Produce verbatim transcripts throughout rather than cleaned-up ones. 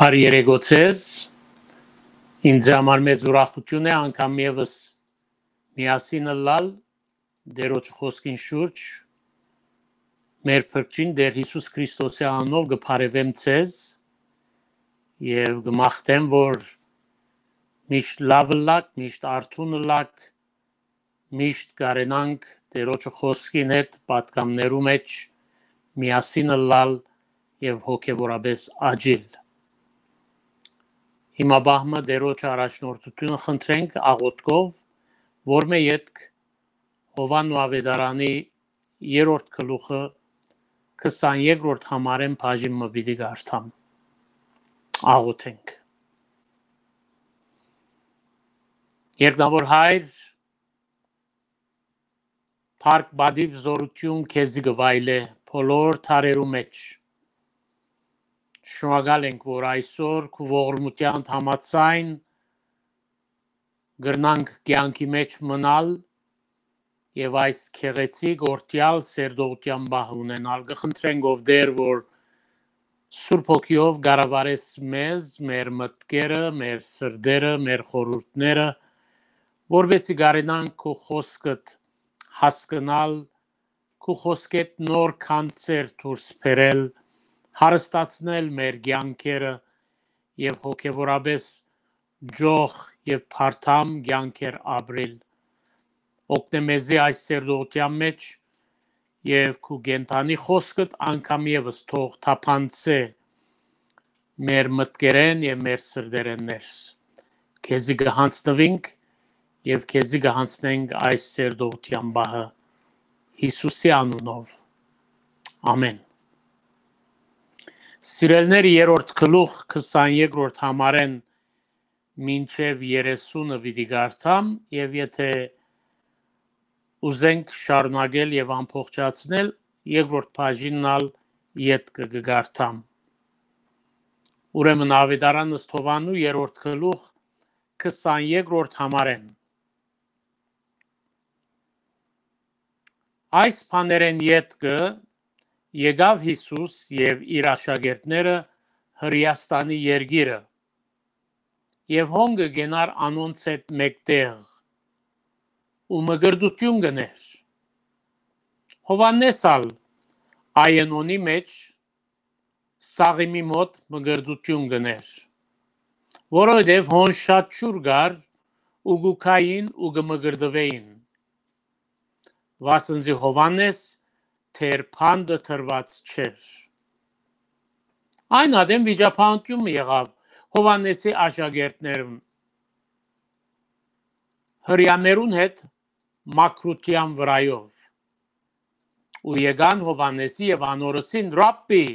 Բարի երեկոյ ձեզ։ Ինձ համար մեծ ուրախութիւն է անգամ եւս միասին ըլլալ Տէրոջը խօսքին շուրջ։ Մեր փրկչին Տէր Յիսուս Քրիստոսի անունով կը բարեւեմ ձեզ եւ կը մաղթեմ, որ միշտ լաւ ըլլաք, միշտ արթուն ըլլաք, միշտ կարենանք Տէրոջը խօսքին հետ պատգամներու մէջ միասին ըլլալ եւ հոգեւորապէս աճիլ։ Հիմա բահմը Տէրոջը առաջնորդութիւնը խնդրենք աղօթքով, որ մէ ետք Յովհաննու աւետարանի երրորդ գլուխը քսաներկրորդ համարէն բաժին մը պիտի կարդամ։ Աղօթենք։ Երկնաւոր Հայր, փառք, պատիւ, զօրութիւն քեզի կը վայելէ բոլոր դարերու մէջ։ Շնորհակալ ենք, որ այսօր քու ողորմութեանդ համաձայն կրնանք կեանքի մէջ մնալ եւ այս գեղեցիկ օրդեալ սերտողութեան պահ ունենալ։ Կը խնդրենք, ով Տէր, որ Սուրբ Հոգիով կառավարես մեզ, մեր մտքերը, մեր սրտերը, մեր խորհուրդները, որպեսզի կարենանք քու խօսքդ հասկնալ, քու խօսքէդ նոր գանձեր դուրս բերել, հարստացնել մեր կեանքերը եւ հոգեւորապէս ճոխ եւ բարդամ կեանքեր ապրիլ։ Օգնէ մեզի այս սերտողութեան մէջ եւ քու կենդանի խօսքդ անգամ եւս թող թափանցէ մեր մտքերէն եւ մեր սրտերէն ներս։ Քեզի կը յանձնուինք եւ քեզի կը յանձնենք այս սերտողութեան պահը Յիսուսի անունով։ Ամէն։ Սիրելիներ, երրորդ գլուխ քսաներկրորդ համարէն մինչեւ երեսունը պիտի կարդամ եւ եթէ ուզենք շարունակել եւ ամբողջացնել, երկրորդ բաժինն ալ ետքը կը կարդամ։ Ուրեմն Աւետարան ըստ Յովհաննու երրորդ գլուխ քսաներկրորդ համարէն։ Այս բաներէն ետքը եկաւ Յիսուս եւ իր աշակերտները Հրեաստանի երկիրը, եւ հոն կը կենար անոնց հետ մէկտեղ ու մկրտութիւն կ'ընէր։ Յովհաննէս ալ Այենոնի մէջ Սաղիմի մօտ մկրտութիւն կ'ընէր, որովհետեւ հոն շատ ջուր կար ու կու գային ու կը մկրտուէին, վասն զի Յովհաննէս դեռ բանտը դրուած չէր։ Այն ատեն վիճաբանութիւն մը եղաւ Յովհաննէսի աշակերտներուն Հրեաներուն հետ մաքրութեան վրայով։ Ու եկան Յովհաննէսի եւ անոր ըսին. «Ռաբբի,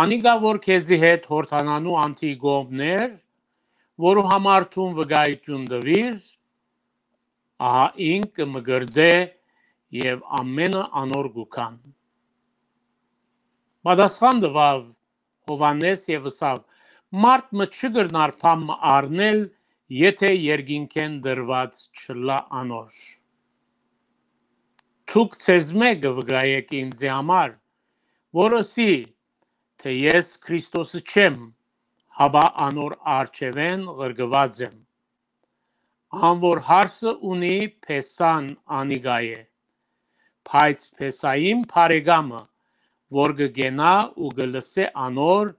անիկա որ քեզի հետ Յորդանանու անդի կողմն էր, որու համար դուն վկայութիւն տուիր, ահա ինք կը մկրտէ եւ ամէնքը անոր կու գան»։ Պատասխան տուաւ Յովհաննէս եւ ըսաւ. «Մարդ մը չի կրնար բան մը առնել, եթէ երկինքէն տրուած չըլլայ անոր։ Դուք ձեզմէ կը վկայէք ինծի համար, որ ըսի թէ ես Քրիստոսը չեմ, հապա անոր առջեւէն ղրկուած եմ։ Ան որ հարսը ունի, փեսան անիկա է, բայց փեսային բարեկամը, որ կը կենայ ու կը լսէ անոր,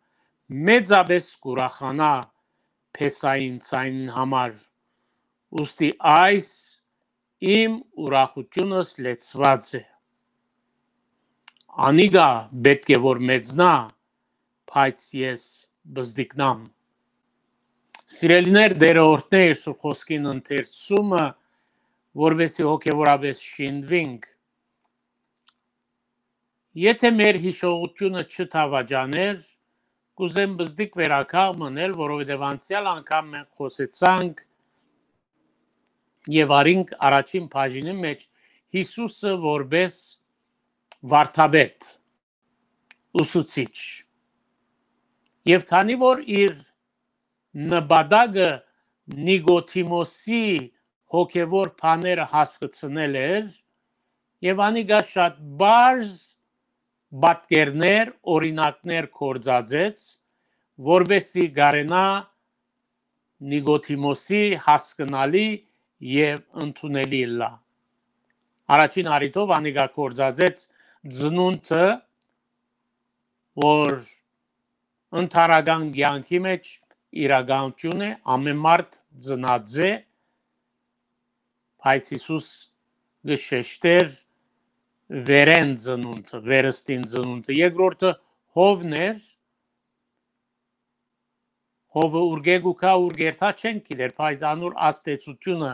մեծապէս կ'ուրախանայ փեսային ձայնին համար։ Ուստի այս իմ ուրախութիւնս լեցուած է։ Անիկա պէտք է որ մեծնայ, բայց ես պզտիկնամ»։ Սիրելիներ, Տէրը օրհնէ իր Սուրբ Խօսքին ընթերցումը, որպեսզի հոգեւորապէս շինուինք։ Եթէ մեր յիշողութիւնը չդաւաճանէր, կ'ուզեմ պզտիկ վերականգ մըն ըլլալ, որովհետեւ անցեալ անգամ մենք խօսեցանք եւ առինք առաջին բաժինի մէջ Յիսուսը որպէս վարդապետ, ուսուցիչ։ Եւ քանի որ իր նպատակը Նիկոդիմոսի հոգեւոր բաները հասկցնել էր, եւ անիկա շատ պարզ պատկերներ, օրինակներ գործածեց, որպեսզի կարենայ Նիկոդիմոսի հասկնալի եւ ընդունելի ըլլայ։ Առաջին առիթով անիկա գործածեց ծնունդը, որ ընդհանրական կեանքի մէջ իրականութիւն է, ամէն մարդ ծնած է, բայց Յիսուս կը շեշտէր վերէն ծնունդը, վերստին ծնունդը։ Երկրորդը հովն էր, հովը ուրկէ կու գայ, ուրկէ երթայ չենք գիտեր, բայց անոր ազդեցութիւնը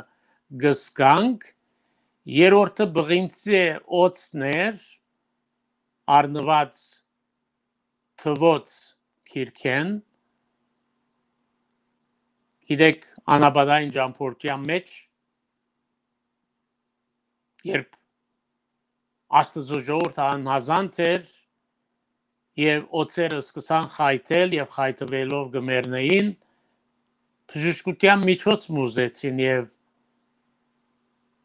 կը զգանք։ Երրորդը բղինցէ օծն էր, առնուած թուոց գիրքէն։ Գիտեք, անապատային ճամբորդութեան մէջ, երբ Աստուծոյ ժողովուրդը անհազանդ էր եւ օծերը սկսան խայթել եւ խայթուելով կը մեռնէին, բժշկութեան միջոց մը ուզեցին եւ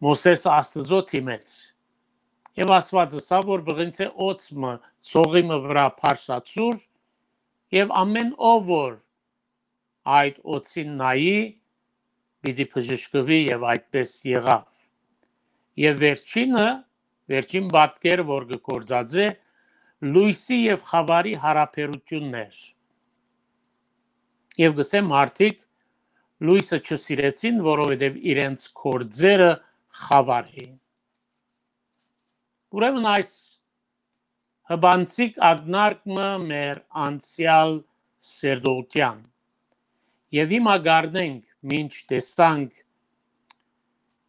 Մովսէս Աստուծոյ դիմեց։ Եւ Աստուած ըսաւ, որ բղինցէ օծ մը, ծողի մը վրայ բարձրացուր, եւ ամէն ով որ այդ օծին նայի, պիտի բժշկուի, եւ այդպէս եղաւ։ Եւ վերջինը, վերջին պատկերը, որ կը գործածէ, լոյսի եւ խաւարի յարաբերութիւնն էր։ Եւ կ'ըսեմ, մարդիկ լոյսը չսիրեցին, որովհետեւ իրենց գործերը խաւար էին։ Ուրեմն այս հպանցիկ ակնարկ մը մեր անցեալ սերտողութեան։ Եւ հիմա կ'առնենք, մինչ տեսանք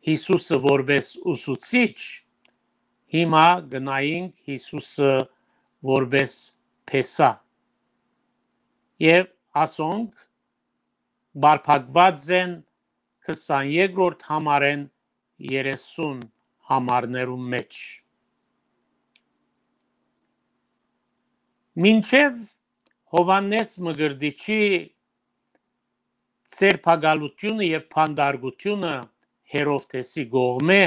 Յիսուսը որպէս ուսուցիչ, հիմա կը նայենք Յիսուսը որպէս փեսայ։ Եւ ասոնք պարփակուած են քսաներկրորդ համարէն երեսուն համարներուն մէջ։ Մինչեւ Յովհաննէս Մկրտիչի ձերբակալութիւնը եւ բանտարկութիւնը Հերովդէսի կողմէ,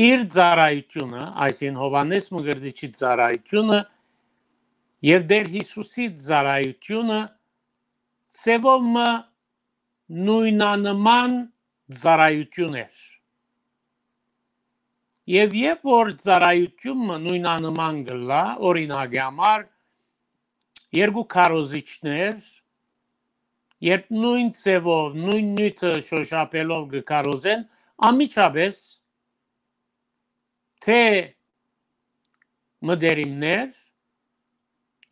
իր ծառայութիւնը, այսինքն Յովհաննէս Մկրտիչի ծառայութիւնը եւ Տէր Յիսուսի ծառայութիւնը ձեւով մը նոյնանման ծառայութիւն էր։ Եւ երբ որ ծառայութիւնը նոյնանման կ'ըլլայ, օրինակի համար, երկու քարոզիչներ, երբ նոյն ձեւով, նոյն նիւթը շօշափելով կը քարոզեն, անմիջապէս թէ մտերիմներ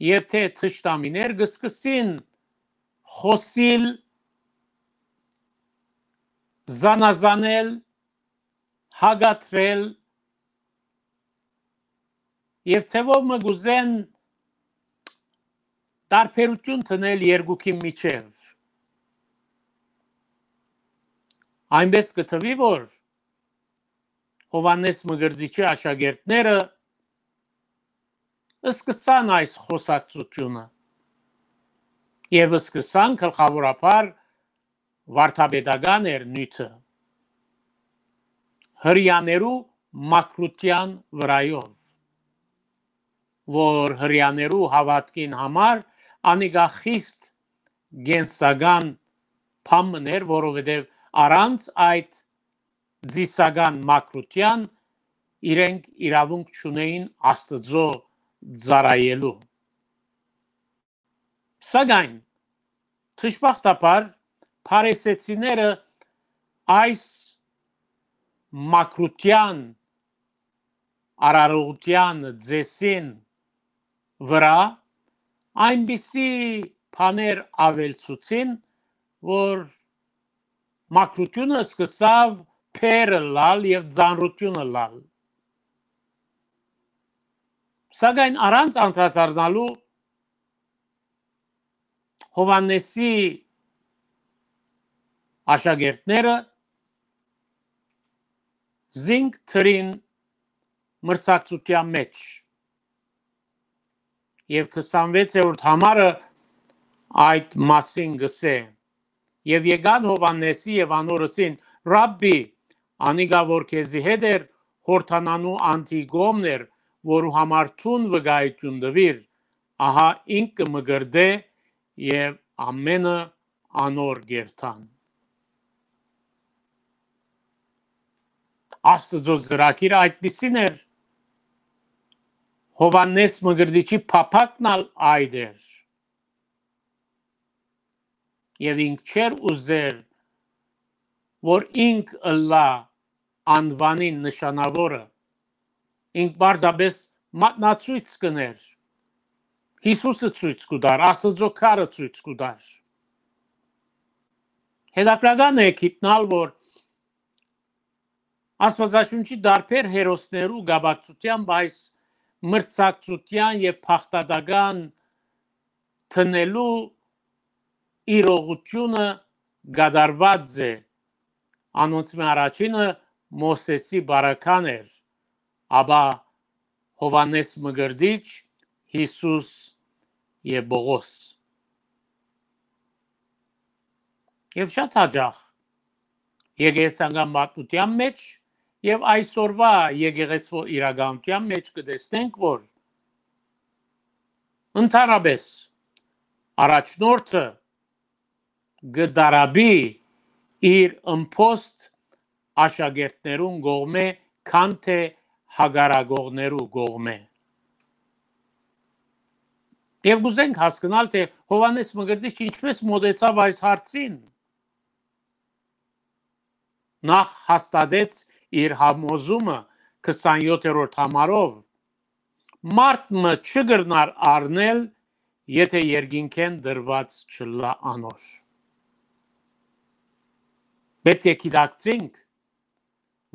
եւ թէ թշնամիներ կը սկսին խօսիլ, զանազանել, հակադրել եւ ձեւով մը կ'ուզեն տարբերութիւն դնել երկուքի միջեւ։ Այնպէս կը թուի, որ Յովհաննէս Մկրտիչի աշակերտները սկսան այս խօսակցութիւնը եւ սկսան գլխաւորաբար վարդապետական էր նիւթը, հրեաներու մաքրութեան վրայով, որ հրեաներու հաւատքին համար անիկա խիստ կենսական բան մըն էր, որովհետեւ առանց այդ ծիսական մաքրութեան իրենք իրաւունք չունէին Աստուծոյ ծառայելու։ Սակայն, դժբախտաբար, փարիսեցիները այս մաքրութեան, արարողութեան ծեսին վրայ այնպիսի բաներ աւելցուցին, որ մաքրութիւնը սկսաւ բեռ ըլլալ եւ ծանրութիւն ըլլալ։ Սակայն առանց անդրադառնալու Յովհաննէսի աշակերտները զինք դրին մրցակցութեան մէջ։ Եւ քսանվեցերորդ համարը այդ մասին կ'ըսէ. «Եւ եկան Յովհաննէսի եւ անոր ըսին. "Ռաբբի, անիկա որ քեզի հետ էր, Յորդանանու անդի կողմն էր, որու համար դուն վկայութիւն տուիր, ահա ինք կը մկրտէ եւ ամէնքը անոր կ'երթան։ Աստուծոյ ծրագիրը այդպիսին էր, Յովհաննէս Մկրտիչի փափակն ալ այդ էր։ Եւ ինք չէր ուզեր, որ ինք ըլլայ անուանին նշանաւորը, ինք պարզապէս մատնացոյց կ'ընէր, Յիսուսը ցոյց կու տար, Աստուծոյ քարը ցոյց կու տար։ Հետաքրքրական է գիտնալ, որ Աստուածաշունչի տարբեր հերոսներու կապակցութեամբ այս մրցակցութեան եւ բաղդատական դնելու իրողութիւնը կատարուած է։ Անոնցմէ առաջինը Մովսէսի պարագան էր, ապա Յովհաննէս Մկրտիչ, Յիսուս եւ Պողոս։ Եւ շատ յաճախ եկեղեցական պատմութեան մէջ եւ այսօրուայ եկեղեցւոյ իրականութեան մէջ կը տեսնենք, որ ընդհանրապէս առաջնորդը կը տարապի իր ըմբոստ աշակերտներուն կողմէ, քան թէ հակառակողներու կողմէ։ Եւ կ'ուզենք հասկնալ, թէ Յովհաննէս Մկրտիչ ինչպէս մօտեցաւ այս հարցին։ Նախ հաստատեց իր համոզումը քսանեթերորդ համարով. «Մարդ մը չի կրնար առնել, եթէ երկինքէն տրուած չըլլայ անոր»։ Պէտք է գիտակցենք,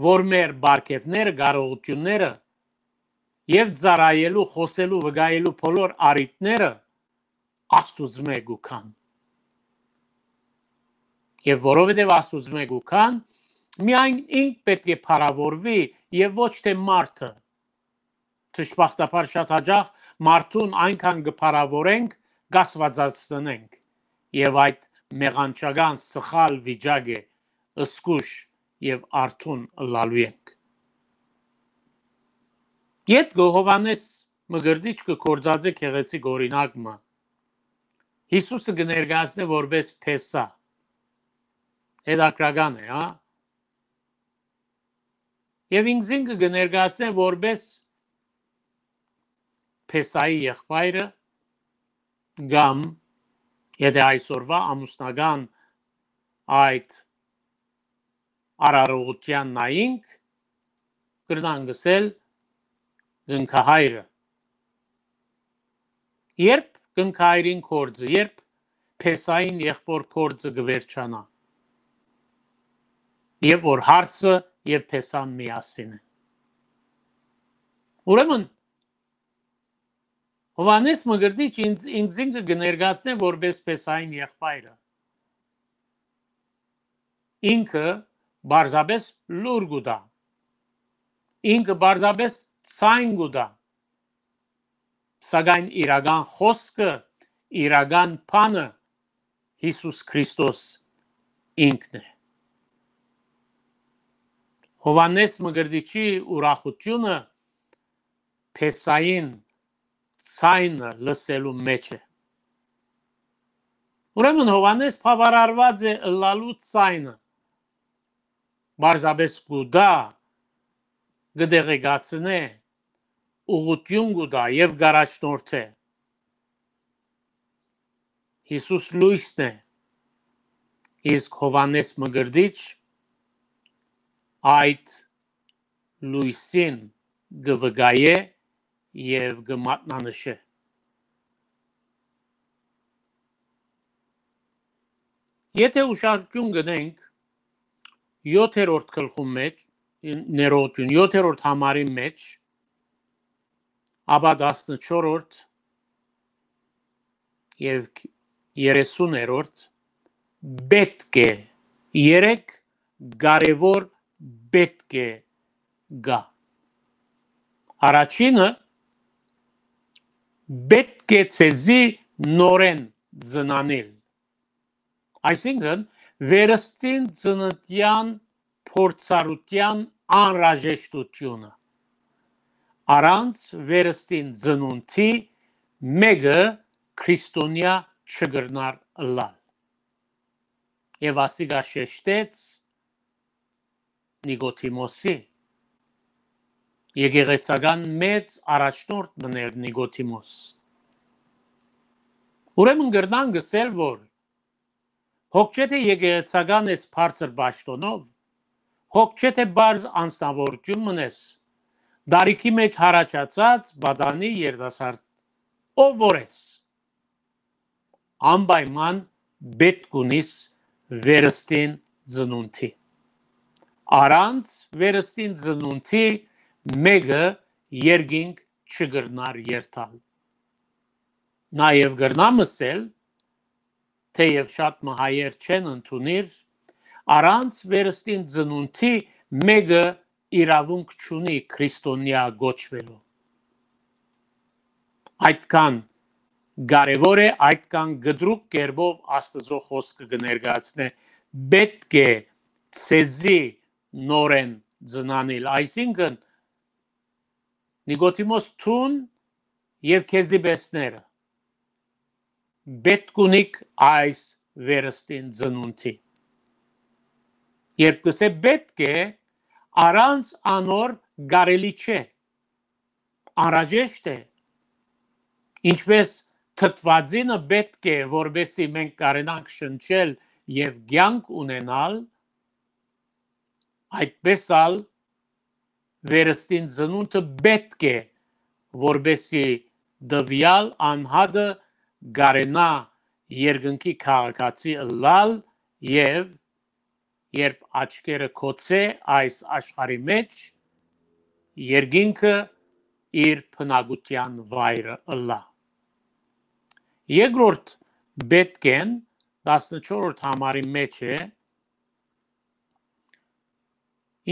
որ մեր պարգեւները, կարողութիւնները եւ ծառայելու, խօսելու, վկայելու բոլոր առիթները Աստուծմէ կու գան։ Եւ որովհետեւ Աստուծմէ կու գան, միայն ինք պէտք է փառաւորուի եւ ոչ թէ մարդը։ Դժբախտաբար շատ յաճախ մարդուն այնքան կը փառաւորենք, կ'աստուածացնենք, եւ այդ մեղանչական սխալ վիճակ է, զգոյշ եւ արթուն ըլլալու ենք։ Ետքը Յովհաննէս Մկրտիչ կը գործածէ գեղեցիկ օրինակ մը։ Յիսուսը կը ներկայացնէ որպէս փեսա։ Հետաքրքրական է, հա։ Եւ ինքզինքը կը ներկայացնէ որպէս փեսայի եղբայրը, կամ, եթէ այսօրուայ ամուսնական այդ արարողութեան նայինք, կրնանք ըսել կնքահայրը։ Երբ կնքահայրին գործը, երբ փեսային եղբոր գործը կը վերջանայ, եւ որ հարսը եւ փեսան միասին է։ Ուրեմն, Յովհաննէս Մկրտիչ ինձ, ինքզինքը կը ներկայացնէ որպէս փեսային եղբայրը։ Ինքը պարզապէս լուր կու տայ։ Ինքը պարզապէս ձայն կու տայ։ Սակայն իրական խօսքը, իրական բանը Յիսուս Քրիստոս ինքն է։ Յովհաննէս Մկրտիչի ուրախութիւնը փեսային ձայնը լսելու մէջ է։ Ուրեմն Յովհաննէս բաւարարուած է ըլլալու ձայնը, պարզապէս կու տայ, կը տեղեկացնէ, ուղղութիւն կու տայ եւ կ'առաջնորդէ։ Յիսուս լոյսն է, իսկ Յովհաննէս Մկրտիչ այդ լոյսին կը վկայէ եւ կը մատնանշէ։ Եթէ ուշադրութիւն կ'ընենք յոթերորդ գլխուն մէջ, ներողութիւն, յոթերորդ համարին մէջ, ապա տասնչորրորդ եւ երեսուներորդ պէտք է, երեք կարեւոր պէտք է գայ։ Առաջինը, պէտք է ձեզի նորէն ծնանիլ։ Այսինքն, վերստին ծննդեան փորձառութեան անհրաժեշտութիւնը։ Առանց վերստին ծնունդի մէկը քրիստոնեայ չկրնար ըլլալ։ Եւ ասիկա շեշտեց Նիկոդիմոսի, եկեղեցական մեծ առաջնորդ մըն էր Նիկոդիմոս։ Ուրեմն կրնանք ըսել, որ հոգ չէ թէ եկեղեցական ես բարձր պաշտոնով, հոգ չէ թէ պարզ անձնաւորութիւն մըն ես, տարիքի մէջ յառաջացած պատանի երիտասարդ, ով որ ես, անպայման պէտք ունիս վերստին ծնունդի։ Առանց վերստին ծնունդի մէկը երկինք չկրնար երթալ։ Նաեւ կրնամ ըսել, թէեւ շատ մը հայեր չեն ընդունիր, առանց վերստին ծնունդի մէկը իրաւունք չունի քրիստոնեայ կոչուելու։ Այդքան կարեւոր է, այդքան կտրուկ կերպով Աստուծոյ խօսքը կը ներկայացնէ, պէտք է ձեզի նորէն ծնանիլ, այսինքն Նիկոդիմոս, դուն եւ քեզի պէսները պէտք ունիք այս վերստին ծնունդի։ Երբ կ'ըսէ պէտք է, առանց անոր կարելի չէ, անհրաժեշտ է, ինչպէս թթուածինը պէտք է, որպեսզի մենք կարենանք շնչել եւ կեանք ունենալ, այդպէս ալ վերստին ծնունդը պէտք է, որպեսզի տուեալ անհատը կարենայ երկնքի քաղաքացի ըլլալ եւ երբ աչքերը գոցէ այս աշխարհի մէջ, երկինքը իր բնակութեան վայրը ըլլայ։ Երկրորդ պէտք են տասնչորրորդ համարի մէջ է,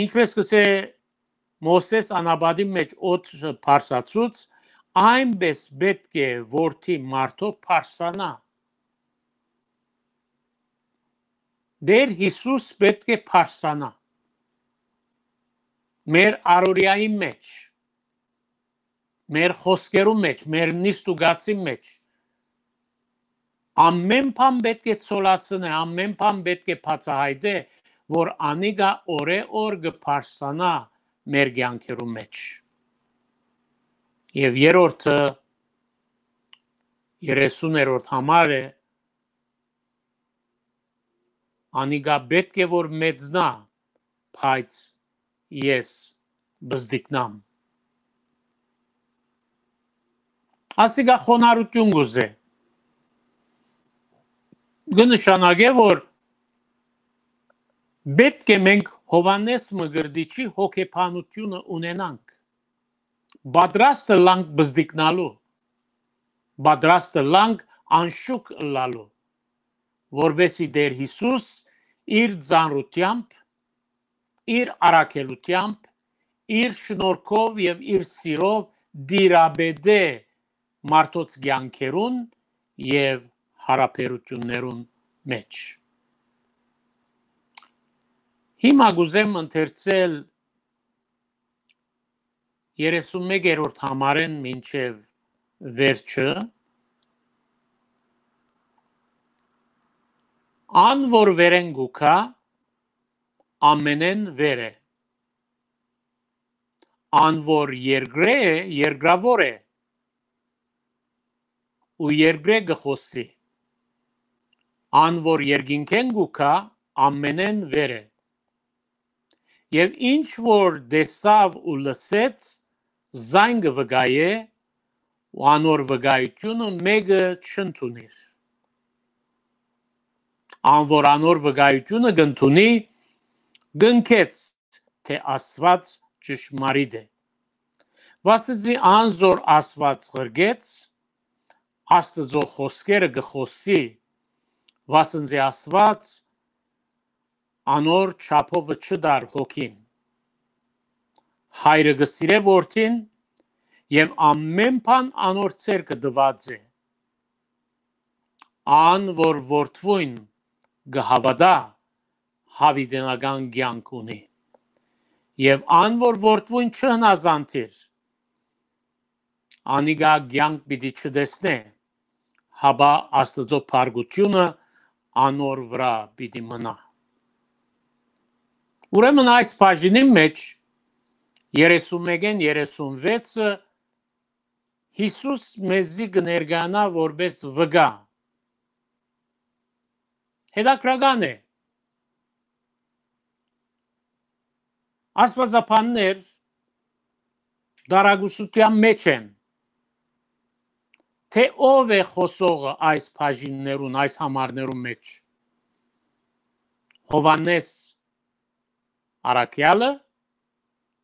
ինչպէս կ'ըսէ Մովսէս անապատին մէջ օդը բարձրացուց, այնպէս պէտք է որդի մարդոյ բարձրանայ։ Տէր Յիսուս պէտք է բարձրանայ մեր առօրեայի մէջ, մեր խօսքերու մէջ, մեր նիստուկացի մէջ։ Ամէն բան պէտք է ցոլացնէ, ամէն բան պէտք է բացայայտէ, որ անիկա օրէ օր կը բարձրանայ մեր կեանքերու մէջ։ Եւ երրորդը, երեսուներորդ համար է, անիկա պէտք է որ մեծնայ, բայց ես բզդիկնամ։ Ասիկա խոնարհութիւն կ'ուզէ։ Կը նշանակէ, որ պէտք է մենք Յովհաննէս Մկրտիչի հոգեբանութիւնը ունենանք, պատրաստը լանք բզդիկնալու, պատրաստը լանք անշուք ըլլալու, որպեսզի Տէր Յիսուս իր ծանրութեամբ, իր առաքելութեամբ, իր շնորհքով եւ իր սիրով տիրապետէ մարդոց կեանքերուն եւ յարաբերութիւններուն մէջ։ Հիմա կ'ուզեմ ընթերցել երեսուն մեկերորդ համարէն մինչեւ վերջը, ան որ վերէն կու գայ, ամենէն վեր է, ան որ երկրէ է, երկրաւոր է, ու երկրէ կը խօսի, ան որ երկինքէն կու գայ, ամենէն վեր է։ Եւ ինչ որ տեսաւ ու լսեց, զայն կը վկայէ, ու անոր վկայութիւնը մէկը չընդունիր։ Ան որ անոր վկայութիւնը կ'ընդունի, կ'ընկեց թէ Աստուած ճշմարիտ է։ Վասն զի անզոր Աստուած ղրկեց, Աստուծոյ խօսքերը կը խօսի, վասն զի Աստուած անոր չափովը չտար հոգին։ Հայրը կը սիրէ որդին եւ ամէն բան անոր ձեռքը տուած է։ Ան որ որդւոյն կը հաւատայ, յաւիտենական կեանք ունի։ Եւ ան որ որդւոյն չհնազանդիր, անիկա կեանք պիտի չտեսնէ, հապա Աստուծոյ փառքութիւնը անոր վրայ պիտի մնայ։ Ուրեմն այս բաժինին մէջ երեսուն մէկէն երեսուն վեցը Յիսուս մեզի կը ներկայանայ որպէս վկայ։ Հետաքրական է, աստուածաբաններ տարակուսութեան մէջ են, թէ ո՞վ է խօսողը այս բաժիններուն, այս համարներուն մէջ։ Յովհաննէս առաքեալը,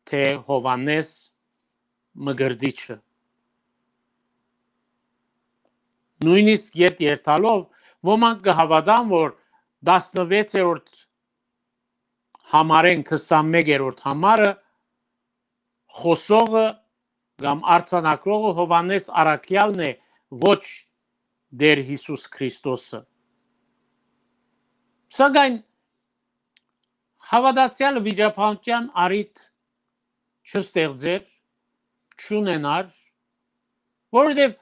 թէ Յովհաննէս մկրտիչը։ Նոյնիսկ ետ երթալով ոմանք կը հաւատան, որ տասնվեցերորդ համարէն քսանմէկերորդ համարը խօսողը կամ արձանագրողը Յովհաննէս առաքեալն է, ոչ Տէր Յիսուս Քրիստոսը։ Սակայն հաւատացեալը վիճաբանութեան առիթ չստեղծեր, չունենար, որովհետեւ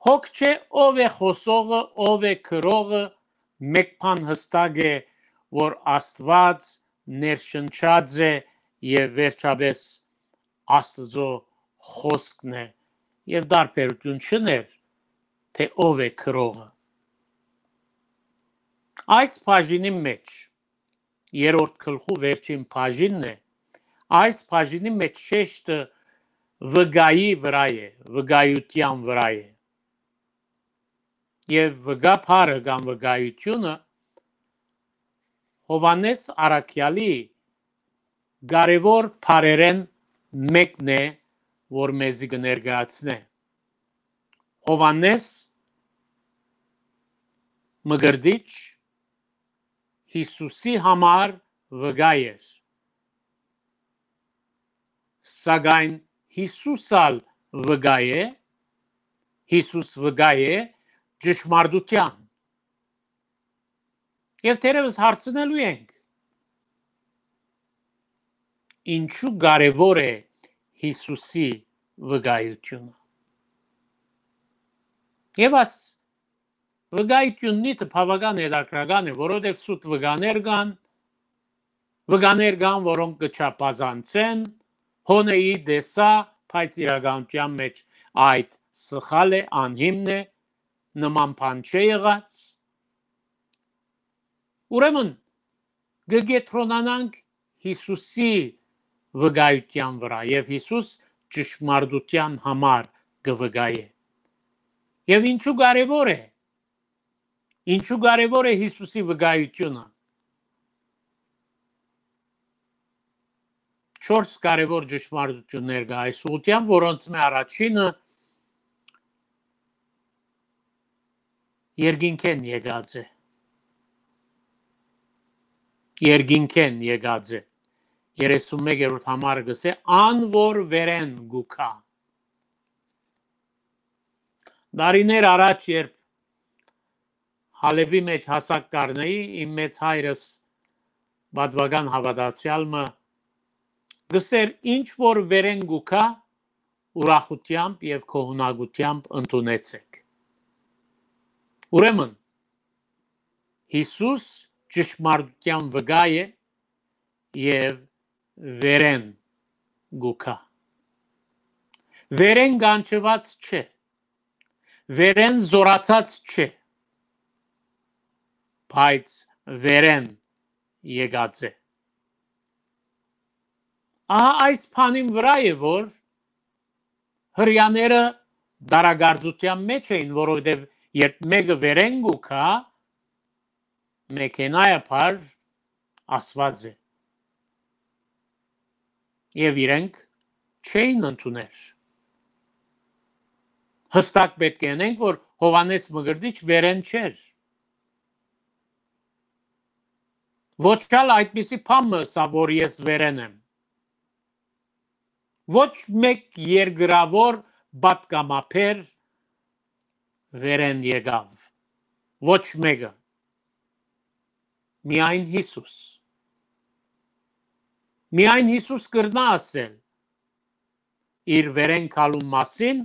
հոգ չէ ով է խօսողը, ով է գրողը, մէկ բան յստակ է, որ Աստուած ներշնչած է եւ վերջապէս Աստուծոյ խօսքն է եւ տարբերութիւն չուներ, թէ ով է գրողը։ Այս բաժինի մէջ, երրորդ գլխու վերջին բաժինն է, այս բաժինի մէջ շեշտը վկայի վրայ է, վկայութեան վրայ է։ Եւ վկայ բառը կամ վկայութիւնը Յովհաննէս առաքեալի կարեւոր բառերէն մէկն է, որ մեզի կը ներկայացնէ։ Յովհաննէս մկրտիչ Յիսուսի համար վկայ էր, սակայն Յիսուս ալ վկայ է, Յիսուս վկայ է ճշմարտութեան։ Եւ թերեւս հարցնելու ենք, ինչու կարեւոր է Յիսուսի վկայութիւնը։ Եւ աս վկայութիւննիցը բաւական հետաքրական է, որովհետեւ սուտ վկաներ կան, վկաներ կան, որոնք կը չափազանցեն, հոնը ի տեսայ, բայց իրականութեան մէջ այդ սխալ է, անհիմն է, նման բան չէ եղած։ Ուրեմն, կը կեդրոնանանք Յիսուսի վկայութեան վրայ եւ Յիսուս ճշմարտութեան համար կը վկայէ։ Եւ ինչու կարեւոր է, ինչու կարեւոր է Յիսուսի վկայութիւնը։ Չորս կարեւոր ճշմարտութիւններ կա այս ուղղութեան, որոնցմէ առաջինը երկինքէն եկած է։ Երկինքէն եկած է։ Երեսունմեկերորդ համարը կ'ըսէ, ան որ վերէն կու գայ։ Տարիներ առաջ, երբ Հալէպի մէջ հասակ կ'առնէի, իմ մեծ հայրս, պատուական հաւատացեալ մը, կ'ըսէր, ինչ որ վերէն կու գայ, ուրախութեամբ եւ գոհունակութեամբ ընդունեցէք։ Ուրեմն, Յիսուս ճշմարտութեան վկայ է եւ վերէն կու գայ։ Վերէն կանչուած չէ, վերէն զօրացած չէ, բայց վերէն եկած է։ Ահա այս բանին վրայ է, որ Հրեաները դարակարծութեան մէջ էին, որովհետեւ երբ մէկը վերէն կու գայ, մեքենայաբար ասուած է։ Եւ իրենք չէին ընդուներ։ Յստակ պէտք է ընենք, որ Յովհաննէս Մկրտիչ վերէն չէր։ Ոչ ալ այդպիսի բան մը ըսաւ, որ ես վերէն եմ։ Ոչ մէկ երկրաւոր պատգամաբեր վերէն եկաւ։ Ոչ մէկը։ Միայն Յիսուս։ Միայն Յիսուս կրնայ ասել իր վերէն գալուն մասին,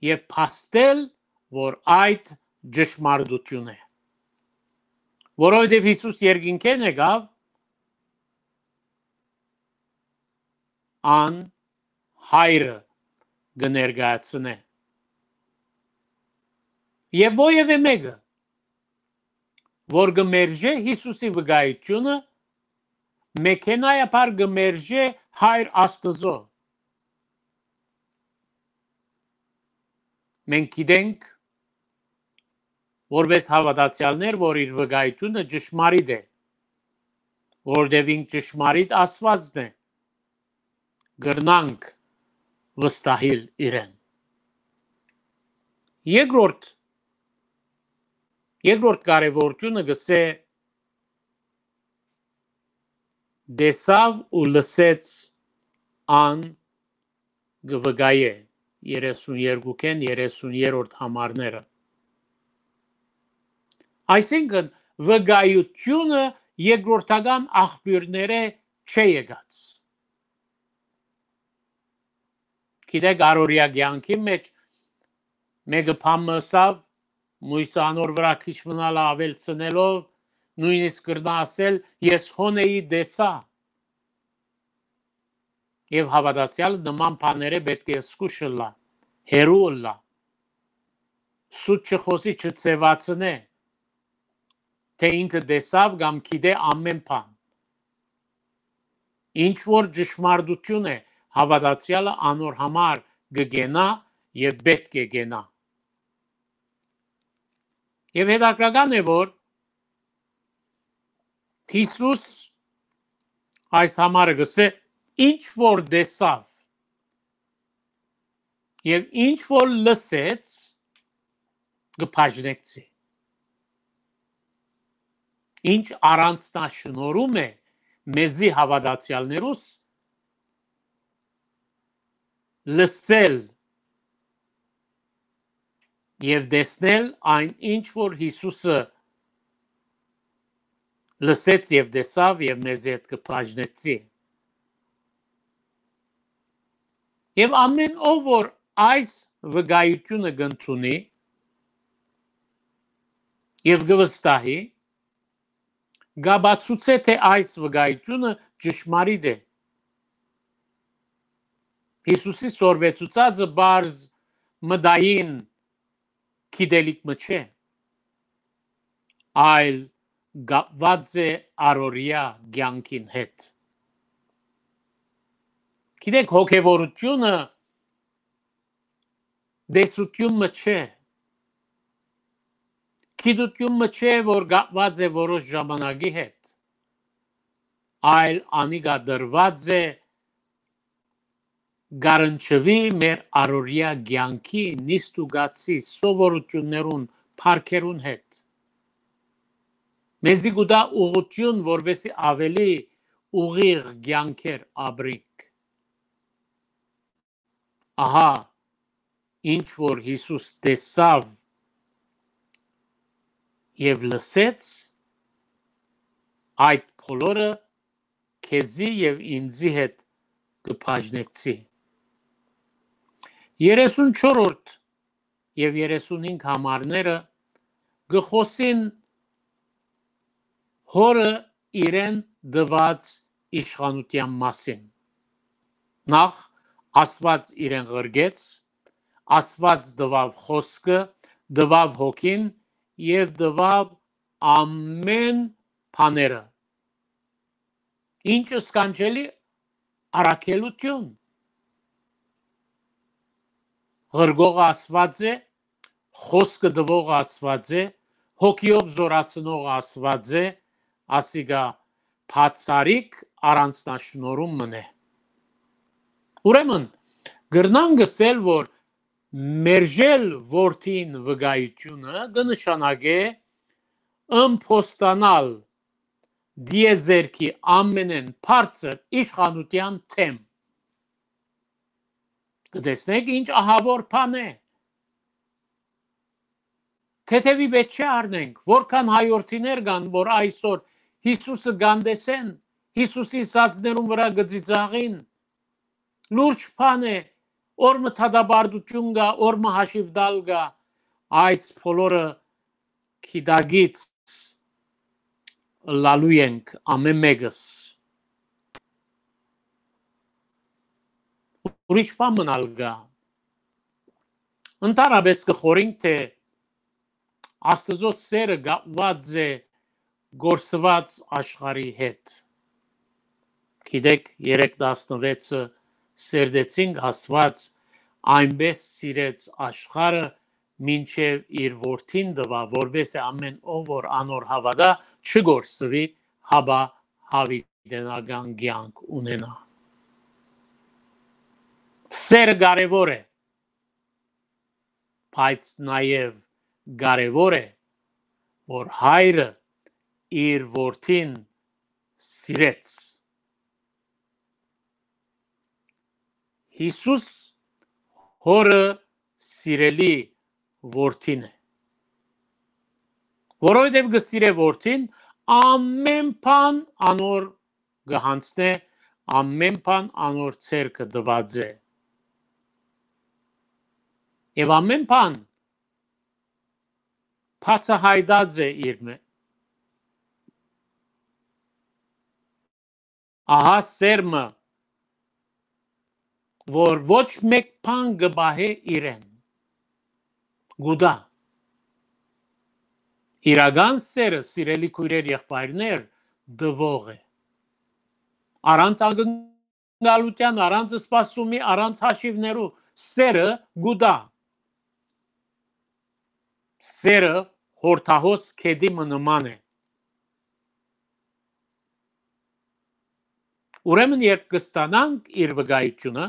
եւ փաստել, որ այդ ճշմարտութիւն է։ Որովհետեւ Յիսուս երկինքէն եկաւ, ան Հայրը կը ներկայացնէ։ Եւ որեւէ մէկը, որ կը մերժէ Յիսուսի վկայութիւնը, մեքենայաբար կը մերժէ Հայր Աստուծոյ։ Մենք գիտենք, որպէս հաւատացեալներ, որ իր վկայութիւնը ճշմարիտ է, որովհետեւ ինք ճշմարիտ Աստուածն է, կրնանք վստահիլ իրեն։ Երկրորդ, երկրորդ կարեւորութիւնը գսէ, տեսաւ ու լսեց ան կը վկայէ երեսուներկուքէն երեսուներորդ համարները։ Այսինքն, վկայութիւնը երկրորդական աղբիւրներէ չէ եկած։ Գիտեք, առօրեայ կեանքի մէջ մէկը բան մը ըսաւ, մոյսը անոր վրայ քիչ մնալ աւելցնելով, նոյնիսկ կրնայ ասել, «Ես հոն էի, տեսայ»։ Եւ հաւատացեալը նման բաներէ պէտք է զգուշ ըլլայ, հեռու ըլլայ, սուտ չխօսի, չձեւացնէ, թէ ինքը տեսաւ կամ գիտէ ամէն բան։ Ինչ որ ճշմարտութիւն է, հաւատացեալը անոր համար կը կենայ եւ պէտք է կենայ։ Եւ հետաքրքրական է, որ Յիսուս այս համարը գսէ, ինչ որ տեսաւ եւ ինչ որ լսեց, կը բաժնեկցի։ Ինչ առանձնաշնորհում է մեզի հաւատացեալներուս, լսել եւ տեսնել այն, ինչ որ Յիսուսը լսեց եւ տեսաւ եւ մեզի հետ կը բաժնեցի։ Եւ ամէն ով որ այս վկայութիւնը կ'ընդունի եւ կը վստահի, կ'ապացուցէ, թէ այս վկայութիւնը ճշմարիտ է։ Յիսուսի սորվեցուցածը պարզ մտային գիտելիք մը չէ, այլ կապուած է առօրեայ կեանքին հետ։ Գիտեք, հոգեվորութիւնը տեսութիւն մը չէ, գիտութիւն մը չէ, որ կապուած է որոշ ժամանակի հետ, այլ անիկա տրուած է, կ'առնչուի մեր առօրեայ կեանքի նիստուկացի սովորութիւններուն, փառքերուն հետ։ Մեզի կու տայ ուղղութիւն, որպէսզի աւելի ուղիղ կեանքեր ապրինք։ Ահա, ինչ որ Յիսուս տեսաւ եւ լսեց, այդ բոլորը քեզի եւ ինձի հետ կը բաժնեկցի։ Երեսունչորրորդ եւ երեսունհինգ համարները կը խօսին Հօրը իրեն տուած իշխանութեան մասին։ Նախ, Աստուած իրեն ղրկեց, Աստուած տուաւ խօսքը, տուաւ հոգին եւ տուաւ ամէն բաները։ Ինչ սքանչելի առաքելութիւն։ Ղրկողը Աստուած է, խօսքը տուողը Աստուած է, հոգիով զօրացնողը Աստուած է, ասիկա բացառիկ առանձնաշնորհում մըն է։ Ուրեմն, կրնանք ըսել, որ մերժել որդին վկայութիւնը կը նշանակէ ըմբոստանալ տիեզերքի ամենէն բարձր իշխանութեան դէմ։ Կը տեսնէք, ինչ ահաւոր բան է։ Թեթեւի պէտք չէ առնենք, որքան հայորդիներ կան, որ այսօր Յիսուսը կ'անտեսեն, Յիսուսի սածներուն վրայ կը ծիծաղին։ Լուրջ բան է, օր մը դատապարտութիւն կայ, օր մը հաշիւ տալ կայ, այս բոլորը գիտակից ըլլալու ենք ամէն մէկս։ Ուրիշ բան մըն ալ կայ։ Ընդհանրապէս կը խորհենք թէ Աստուծոյ սէրը կապուած է կորսուած աշխարհի հետ։ Գիտէք, երեք տասնուեցը սերտեցինք, Աստուած այնպէս սիրեց աշխարհը, մինչեւ իր որդին տուաւ, որպէս զի ամէն ով որ անոր հաւատայ, չկորսուի, հապա յաւիտենական կեանք ունենայ։ Սէրը կարեւոր է, բայց նաեւ կարեւոր է, որ հայրը իր որդին սիրեց։ Յիսուս հօրը սիրելի որդին է, որովհետեւ կը սիրէ որդին, ամէն բան անոր կը յանձնէ, ամէն բան անոր ձեռքը տուած է։ Եւ ամէն բան բացայայտած է իր մէ-, ահա սէր մը, որ ոչ մէկ բան կը պահէ իրեն, կու տայ։ Իրական սէրը, սիրելի քոյրեր, եղբայրներ, տուող է։ Առանց ակնկալութեան, առանց սպասումի, առանց հաշիւներու սէրը կու տայ։ Սէրը յորդահոս գետի մը նման է։ Ուրեմն, երբ կը ստանանք իր վկայութիւնը,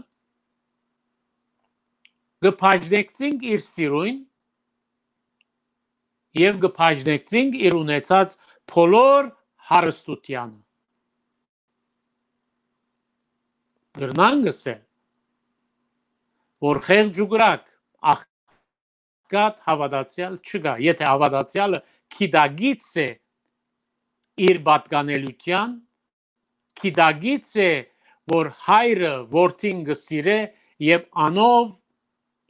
կը բաժնեկցինք իր սիրոյն եւ կը բաժնեկցինք իր ունեցած բոլոր հարստութեանը։ Կրնանք ըսել, որ խեղճ ու կրակ, աղքատ հաւատացեալ չկայ, եթէ հաւատացեալը գիտակից է իր պատկանելիութեան, գիտակից է, որ հայրը որդին կը սիրէ եւ անով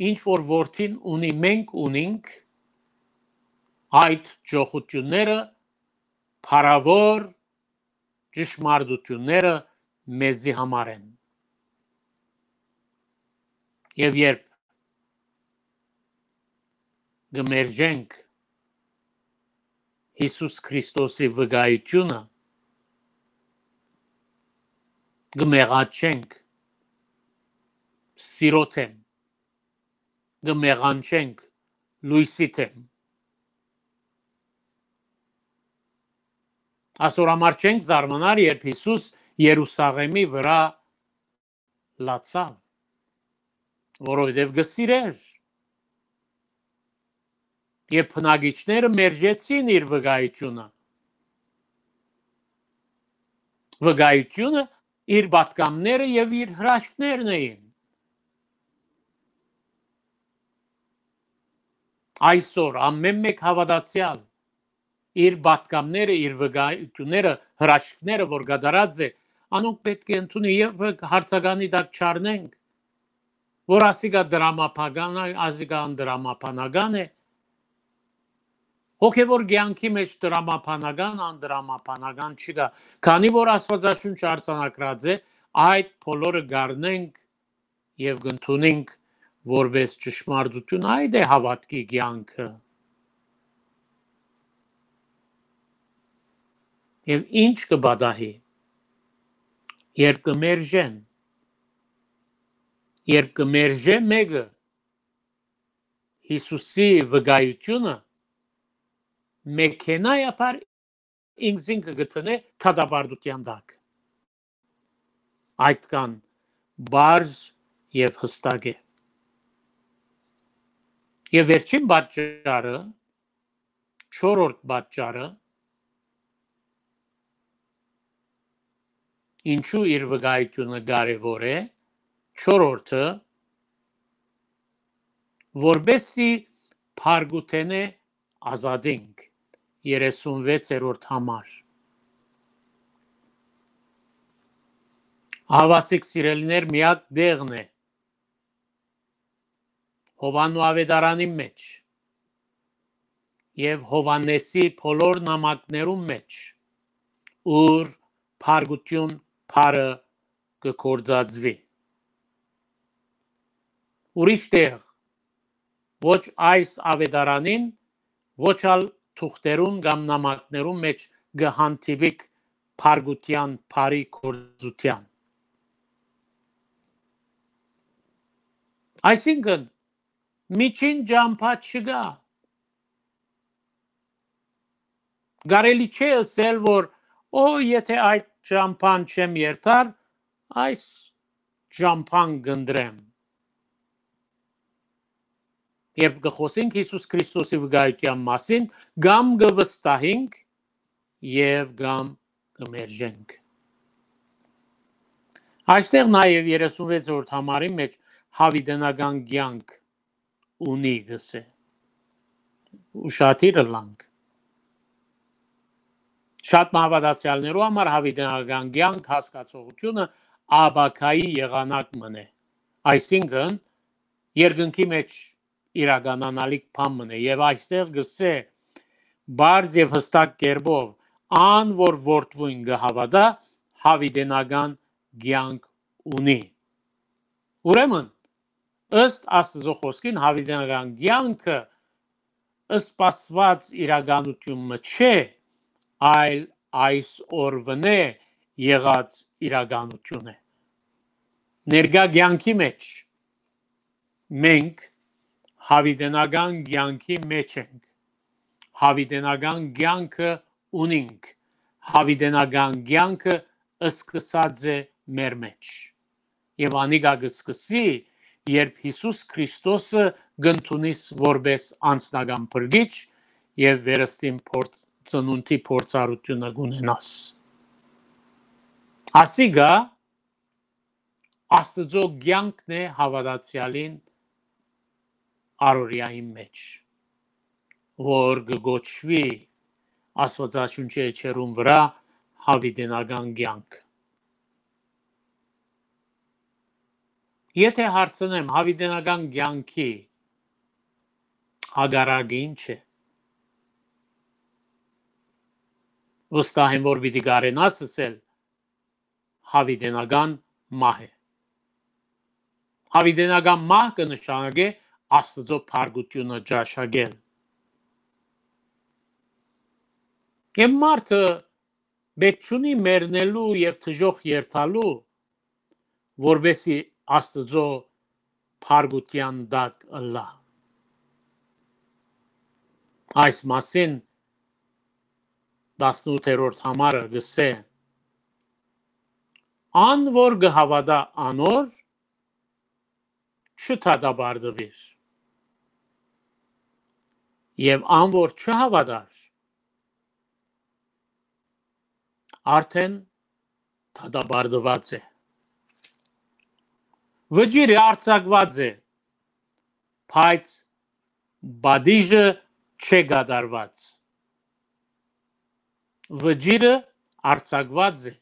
ինչ որ որդին ունի, մենք ունինք, այդ ճոխութիւնները փառաւոր ճշմարտութիւնները մեզի համար են։ Եւ երբ կը մերժենք Յիսուս Քրիստոսի վկայութիւնը, կը մեղաչենք սիրոյ դէմ, կը մեղանչենք լոյսի դէմ։ Ասոր համար չենք զարմանար, երբ Յիսուս Երուսաղէմի վրայ լացաւ, որովհետեւ կը սիրէր։ Եւ բնակիչները մերժեցին իր վկայութիւնը։ Վկայութիւնը իր պատգամները եւ իր հրաշքներն էին։ Այսօր ամէն մէկ հաւատացեալ իր պատգամները, իր վկայութիւնները, հրաշքները, որ կատարած է, անոնք պէտք է ընդունի եւ հարցականի տակ չառնենք, որ ասիկա դրամաբանական է, ասիկա անդրամաբանական է։ Հոգեվոր կեանքի մէջ դրամաբանական, անդրամաբանական չկայ, քանի որ Աստուածաշունչը արձանագրած է, այդ բոլորը կառնենք եւ կ'ընդունենք որպէս ճշմարտութիւն, այդ է հաւատքի կեանքը։ Եւ ինչ կը պատահի, երբ կը մերժեն, երբ կը մերժէ մէկը Յիսուսի վկայութիւնը, մեքենայաբար ինքզինքը կը դնէ դատապարտութեան տակ։ Այդքան պարզ եւ յստակ է։ Եւ վերջին պատճառը, չորրորդ պատճառը, ինչու իր վկայութիւնը կարեւոր է, չորրորդը, որպեսզի փառքութենէ ազատինք, երեսունվեցերորդ համար։ Ահա, սիրելիներ, միակ տեղն է, Յովհաննու աւետարանին մէջ եւ Յովհաննէսի բոլոր նամակներուն մէջ, ուր փառքութիւն բառը կը գործածուի։ Ուրիշ տեղ, ոչ այս աւետարանին, ոչ ալ թուղթերուն կամ նամակներուն մէջ կը հանդիպիք փառքութեան բառի գործութեան։ Այսինքն, միջին ճամբայ չկայ։ Կարելի չէ ըսել, որ, «Օ, եթէ այդ ճամբան չեմ երթար, այս ճամբան կ'ընտրեմ»։ Երբ կը խօսենք Յիսուս Քրիստոսի վկայութեան մասին, կամ կը վստահենք եւ կամ կը մերժենք։ Այստեղ նաեւ երեսունվեցերորդ համարին մէջ յաւիտենական կեանք ունի, կ'ըսէ։ Ուշադիր ըլլանք։ Շատ մը հաւատացեալներու համար յաւիտենական կեանք հասկացողութիւնը ապագայի եղանակ մըն է։ Այսինքն, երկնքի մէջ իրականանալիք բան մըն է։ Եւ այստեղ կ'ըսէ, բարձ եւ յստակ կերպով, ան որ որդւոյն կը հաւատայ, յաւիտենական կեանք ունի։ Ուրեմն, ըստ Աստուծոյ խօսքին, յաւիտենական կեանքը սպասուած իրականութիւն մը չէ, այլ այս օրուընէ եղած իրականութիւն է։ Ներկայ կեանքի մէջ մենք յաւիտենական կեանքի մէջ ենք։ Յաւիտենական կեանքը ունինք։ Յաւիտենական կեանքը սկսած է մեր մէջ։ Եւ անիկա կը սկսի, երբ Յիսուս Քրիստոսը կ'ընդունիս որպէս անձնական փրկիչ եւ վերստին փորձ-, ծնունդի փորձառութիւնը կ'ունենաս։ Ասիկա Աստուծոյ կեանքն է հաւատացեալին առօրեային մէջ, որ կը կոչուի Աստուածաշունչի էջերուն վրայ յաւիտենական կեանք։ Եթէ հարցնեմ, յաւիտենական կեանքի հակառակը ի՞նչ է, վստահ եմ, որ պիտի կարենաս ըսել, յաւիտենական մահ է։ Յաւիտենական մահ կը նշանակէ Աստուծոյ փառքութիւնը ճաշակել։ Եւ մարդը պէտք չունի մեռնելու եւ դժոխք երթալու, որպէսզի Աստուծոյ փառքութեան տակ ըլլայ։ Այս մասին տասնութերորդ համարը կ'ըսէ. «Ան որ կը հաւատայ անոր, չդատապարտուիր, եւ ան որ չհաւատար, արդէն դատապարտուած է»։ Վճիռը արձակուած է, բայց պատիժը չէ կատարուած։ Վճիռը արձակուած է,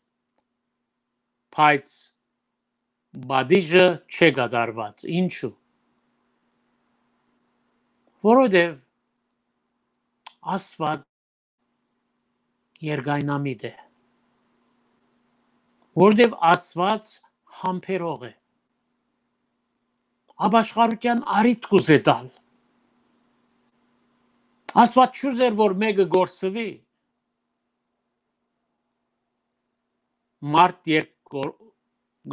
բայց պատիժը չէ կատարուած։ Ինչու՞։ Որովհետեւ Աստուած երկայնամիտ է, որովհետեւ Աստուած համբերող է, ապաշխարութեան առիթ կ'ուզէ տալ։ Աստուած չուզեր, որ մէկը կորսուի։ Մարդ երբ կոր-,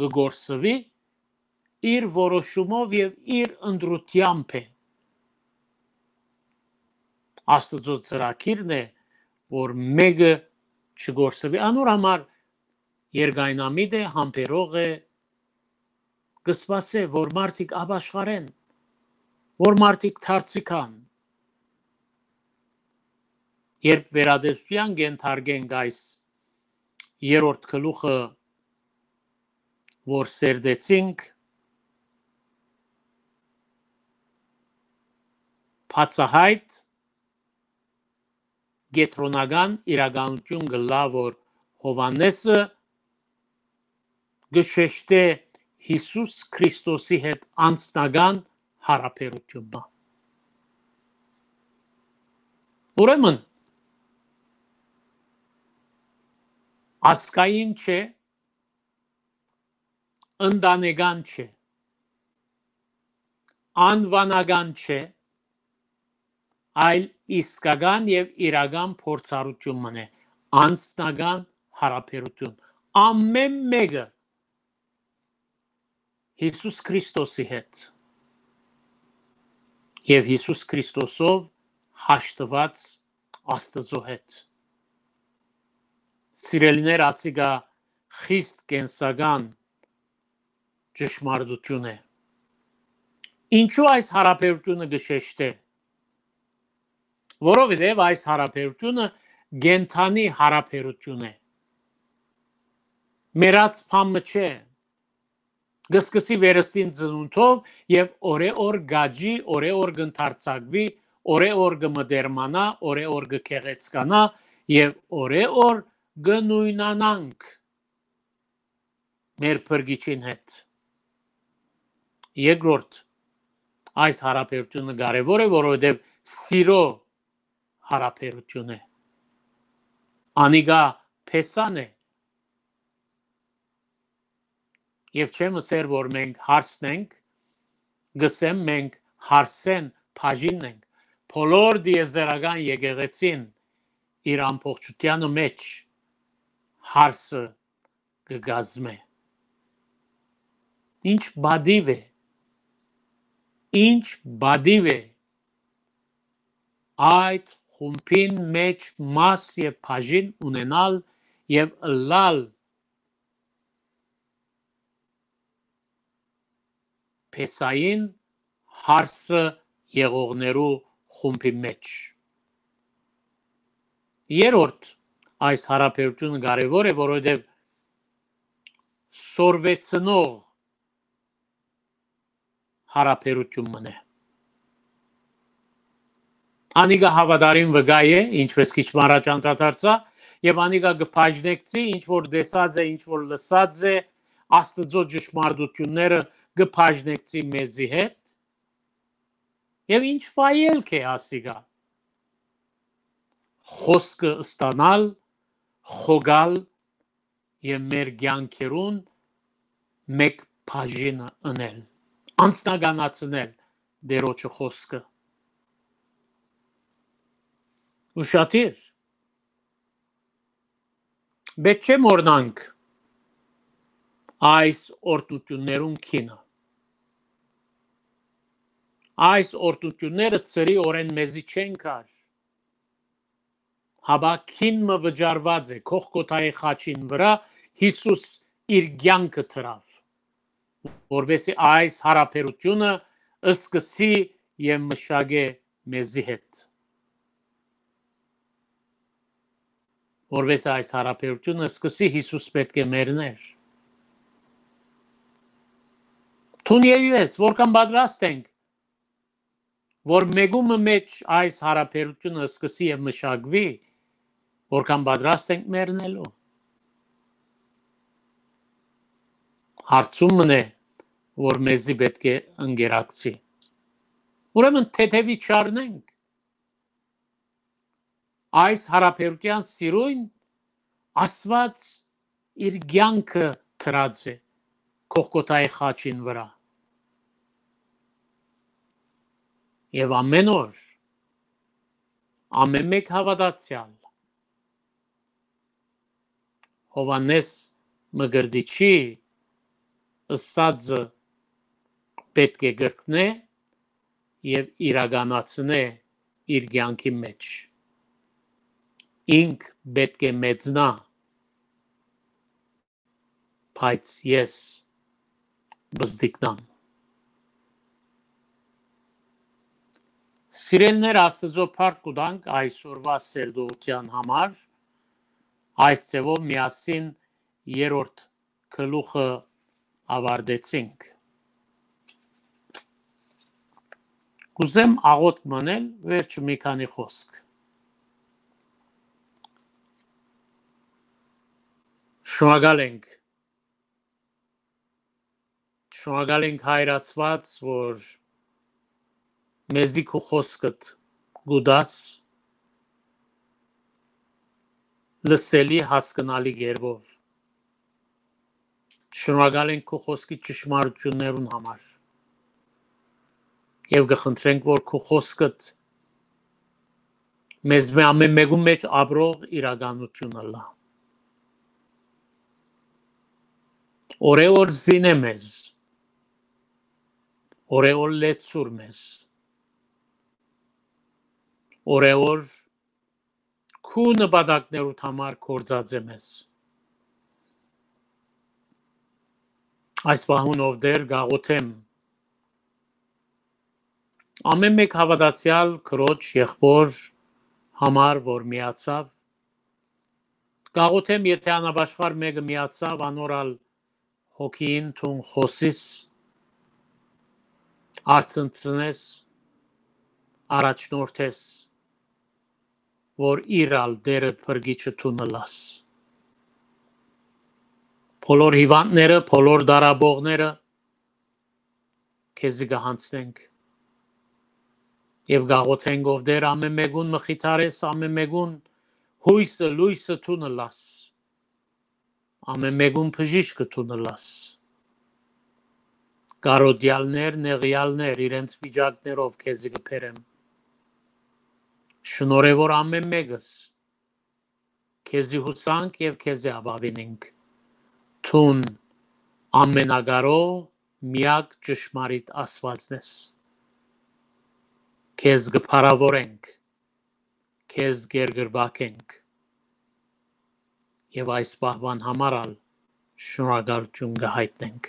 կը կորսուի, իր որոշումով եւ իր ընտրութեամբ է։ Աստուծոյ ծրագիրն է, որ մէկը չկորսուի։ Անոր համար երկայնամիտ է, համբերող է, կը սպասէ, որ մարդիկ ապաշխարեն, որ մարդիկ դարձի գան։ Երբ վերատեսութեան կ'ենթարկենք այս երրորդ գլուխը, որ սերտեցինք, բացահայտ կեդրոնական իրականութիւն կ'ըլլայ, որ Յովհաննէսը կը շեշտէ Յիսուս Քրիստոսի հետ անձնական յարաբերութիւն մը։ Ուրեմն, ազգային չէ, ընտանեկան չէ, անուանական չէ, այլ իսկական եւ իրական փորձառութիւն մըն է, անձնական յարաբերութիւն։ Ամէն մէկը Յիսուս Քրիստոսի հետ եւ Յիսուս Քրիստոսով հաշտուած Աստուծոյ հետ։ Սիրելիներ, ասիկա խիստ կենսական ճշմարտութիւն է։ Ինչու այս յարաբերութիւնը կը շեշտէ։ Որովհետեւ այս յարաբերութիւնը կենդանի յարաբերութիւն է։ Մեռած բան մը չէ։ Կը սկսի վերստին ծնունդով եւ օրէ օր կ'աճի, օրէ օր կ'ընդարձակուի, օրէ օր կը մտերմանայ, օրէ օր կը գեղեցկանայ եւ օրէ օր կը նոյնանանք մեր Փրկիչին հետ։ Երկրորդ, այս յարաբերութիւնը կարեւոր է, որովհետեւ սիրո յարաբերութիւն է։ Անիկա փեսան է։ Եւ չեմ ըսեր, որ մենք հարսն ենք, գսեմ, մենք հարսեն բաժինն ենք։ Բոլոր դիեզերական եկեղեցին իր ամբողջութեանը մեջ հարսը կը կազմէ։ Ինչ բադիւ է, ինչ բադիւ է այդ խումբին մեջ մաս եւ բաժին ունենալ եւ ըլլալ փեսային հարսը եղողներու խումբի մեջ։ Երրորդ, այս յարաբերութիւնը կարեւոր է, որովհետեւ սորվեցնող յարաբերութիւն մըն է։ Անիկա հաւատարիմ վկայ է, ինչպես քիչ մը առաջ անդրադարձայ, եւ անիկա կը բաժնեկցի, ինչ որ տեսած է, ինչ որ լսած է, Աստուծոյ ճշմարտութիւնները կը բաժնեկցի մեզի հետ, եւ ինչ վայելք է ասիկա։ Խօսքը ստանալ, խոկալ եւ մեր կեանքերուն մէկ բաժինը ընել, անձնականացնել Տէրոջը խօսքը։ Ուշադիր, պէտք չէ մոռնանք այս օրհնութիւններուն գինը։ Այս օրհնութիւնները ծրի օրէն մեզի չեն գար, հապա գին մը վճարուած է Գողգոթայի խաչին վրայ Յիսուս իր կեանքը դրաւ, որպեսզի այս յարաբերութիւնը սկսի եւ մշակէ մեզի հետ։ Որպեսզի այս յարաբերութիւնը սկսի, Յիսուս պէտք է մեռնէր։ Դուն եւ ես, որքան պատրաստ ենք, որ մէկու մը մէջ այս յարաբերութիւնը սկսի եւ մշակուի, որքան պատրաստ ենք մեռնելու։ Հարցում մըն է, որ մեզի պէտք է ընկերակցի։ Ուրեմն թեթեւի չառնենք այս յարաբերութեան սիրոյն Աստուած իր կեանքը դրած է Գողգոթայի խաչին վրայ։ Եւ ամէն օր, ամէն մէկ հաւատացեալ Յովհաննէս Մկրտիչի ըսածը պէտք է կրկնէ եւ իրականացնէ իր կեանքի մեջ։ Ինք պէտք է մեծնայ, բայց ես պզտիկնամ։ Սիրելիներ, Աստուծոյ փառք կու տանք այսօրուայ սերտողութեան համար։ Այս ձեւով միասին երրորդ գլուխը աւարտեցինք։ Կուզեմ աղօթք մնել, վերջը մի քանի խօսք։ Շնորհակալ ենք։ Շնորհակալ ենք, Հայր Աստուած, որ մեզի քու խօսքդ կու տաս լսելի, հասկնալի կերպով։ Շնորհակալ ենք քու խօսքի ճշմարտութիւններուն համար եւ կը խնդրենք, որ քու խօսքդ մեզմէ ամէն մէկուն մէջ ապրող իրականութիւն ըլլայ։ Օրէ օր զինէ մեզ, օրէ օր լեցուր մեզ, օրէ օր քու նպատակներուդ համար գործածէ մեզ։ Այս պահուն, ով Տէր, կաղոթեմ ամէն մէկ հաւատացեալ քրոջ, եղբոր համար, որ միացաւ։ Կաղոթեմ, եթէ անապաշխար մէկը միացաւ, անոր ալ հոգին դուն խօսիս, արցնցնես, առաջնորդես, որ իր ալ Տէրը, փրկիչը դուն ըլլաս։ Բոլոր հիւանդները, բոլոր դարաբողները քեզի կը յանձնենք եւ կաղոթենք, ով Տէր, ամէն մէկուն մխիթարես, ամէն մէկուն յոյսը, լոյսը դուն ըլլաս, ամէն մէկուն բժիշկը դուն ըլլաս։ Կարօտեալներ, նեղեալներ իրենց վիճակներով քեզի կը բերեմ։ Շնորհ է, որ ամէն մէկս քեզի յուսանք եւ քեզի ապաւինենք։ Դուն ամենակարող, միակ ճշմարիտ Աստուածն ես։ Քեզ կը փառաւորենք, քեզ կերկրպագենք եւ այս պահուան համար ալ շնորհակալութիւն կը յայտնենք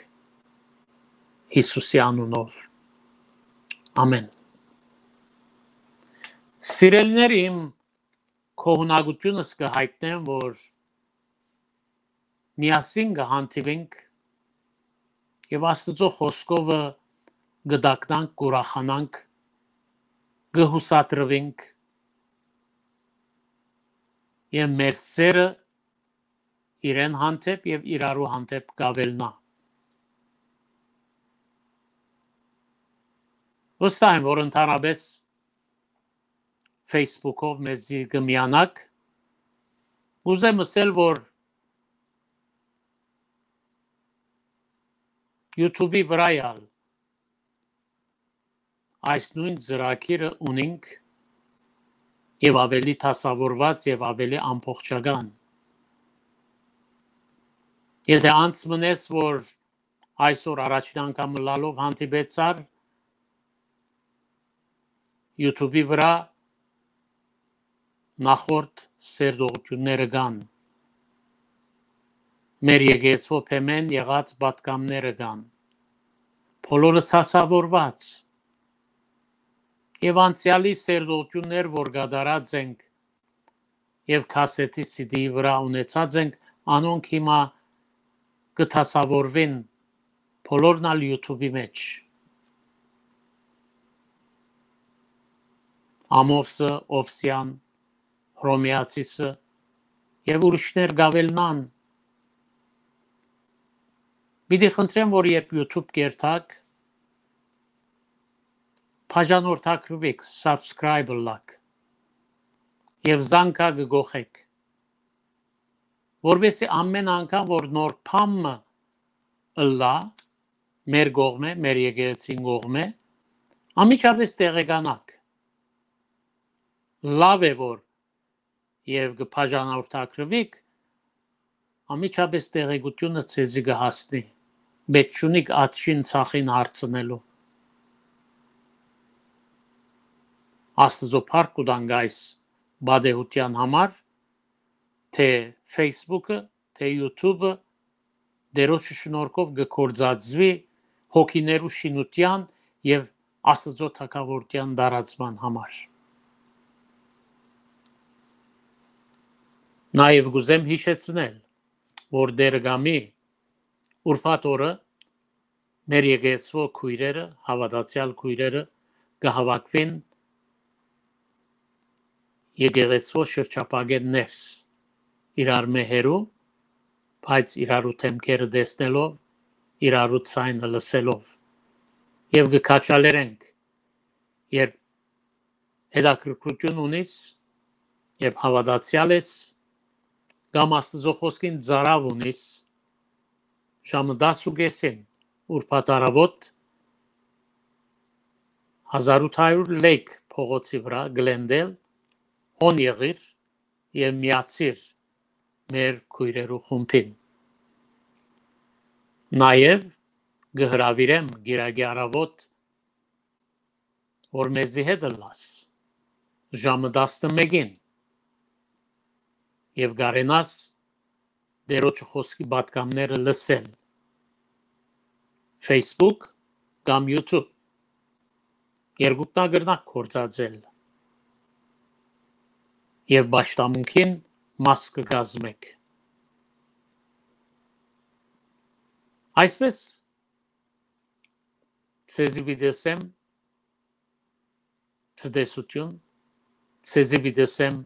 Յիսուսի անունով։ Ամէն։ Սիրելիներ իմ, գոհունակութիւնս կը յայտնեմ, որ միասին կը հանդիպենք եւ Աստուծոյ խօսքովը կը տագնանք, կ'ուրախանանք, կը յուսադրուինք եւ մեր սերը իրեն հանդէպ եւ իրարու հանդէպ կ'աւելնայ։ Վստահ եմ, որ ընդհանրապէս Facebook-ով մեզի կը միանաք։ Կ'ուզեմ ըսել, որ YouTube-ի վրայ ալ այս նոյն ծրագիրը ունինք եւ աւելի դասաւորուած եւ աւելի ամբողջական։ Եթէ անց մնես, որ այսօր առաջին անգամ ըլլալով հանդիպեցար YouTube-ի վրայ, նախորդ սերտողութիւնները կան, մեր եկեղեցւոյ բեմէն եղած պատգամները կան, բոլորը դասաւորուած եւ անցեալի սերտողութիւններ, որ կատարած ենք, եւ քասեթի CD-ի վրայ ունեցած ենք, անոնք հիմա կը դասաւորուին բոլորն ալ YouTube-ի մէջ։ Ամովսը, Օվսեան, Հռոմեացիսը եւ ուրիշներ կ'աւելնան։ Պիտի խնդրեմ, որ երբ YouTube կերթաք, բաժանորդագրուիք, subscribe ըլլաք եւ զանգակը գողեք, որպեսզի ամէն անգամ, որ նոր բան մը ըլլայ մեր կողմէ, մեր եկեղեցին կողմէ, անմիջապէս տեղեկանաք։ Լաւ է, որ եւ կը բաժանորդագրուիք, անմիջապէս տեղեկութիւնը ձեզի կը հասնի, մէջ չունիք աջին ձախին հարցնելու։ Աստուծոյ փառք կու տանք այս պատեհութեան համար, թէ Facebook-ը, թէ YouTube-ը Տէրոջը շնորհքով կը գործածուի հոգիներու շինութեան եւ Աստուծոյ թագաւորութեան տարածման համար։ Նաեւ կ'ուզեմ յիշեցնել, որ Տէրը կամի ուրբաթ օրը մեր եկեղեցւոյ քոյրերը, հաւատացեալ քոյրերը կը հաւաքուին եկեղեցւոյ շրջափակէն ներս, իրարմէ հեռու, բայց իրարու դէմքերը տեսնելով, իրարու ձայնը լսելով, եւ կը քաջալերենք երբ հետաքրքրութիւն ունիս, երբ հաւատացեալ ես, կամ Աստուծոյ խօսքին ծարաւ ունիս, ժամը տասը ու կէսին ուրբաթ առաւօտ հազար ութ հարիւր լեկ փողոցի վրայ Գլենդէլ, հոն եղիր եւ միացիր մեր քոյրերու խումբին։ Նաեւ կը հրաւիրեմ Կիրակի առաւօտ, որ մեզի հետ ըլլաս ժամը տասնմէկին եւ կարենաս Տէրոջը խօսքի պատգամները լսել Facebook կամ YouTube։ Երկուքն ալ կրնաք գործածել եւ պաշտամունքին մաս կը կազմեք։ Այսպէս, ձեզի պիտի ըսեմ ցտեսութիւն, ձեզի պիտի ըսեմ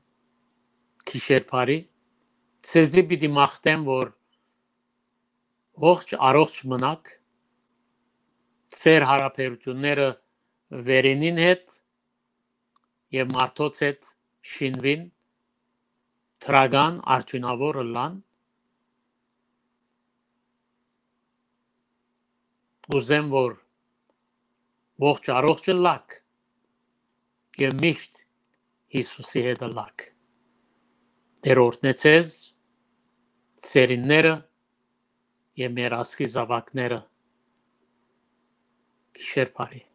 գիշեր բարի, ձեզի պիտի մաղթեմ, որ ողջ առողջ մնաք, ձեր յարաբերութիւնները վերինին հետ եւ մարդոց հետ շինուին, դրական, արդիւնաւոր ըլլան։ Կ'ուզեմ, որ ողջ առողջ ըլլաք եւ միշտ Յիսուսի հետ ըլլաք։ Տէր օրհնեցեզ, սերինները եւ մեր ազգի զաւակները։ Գիշեր բարի։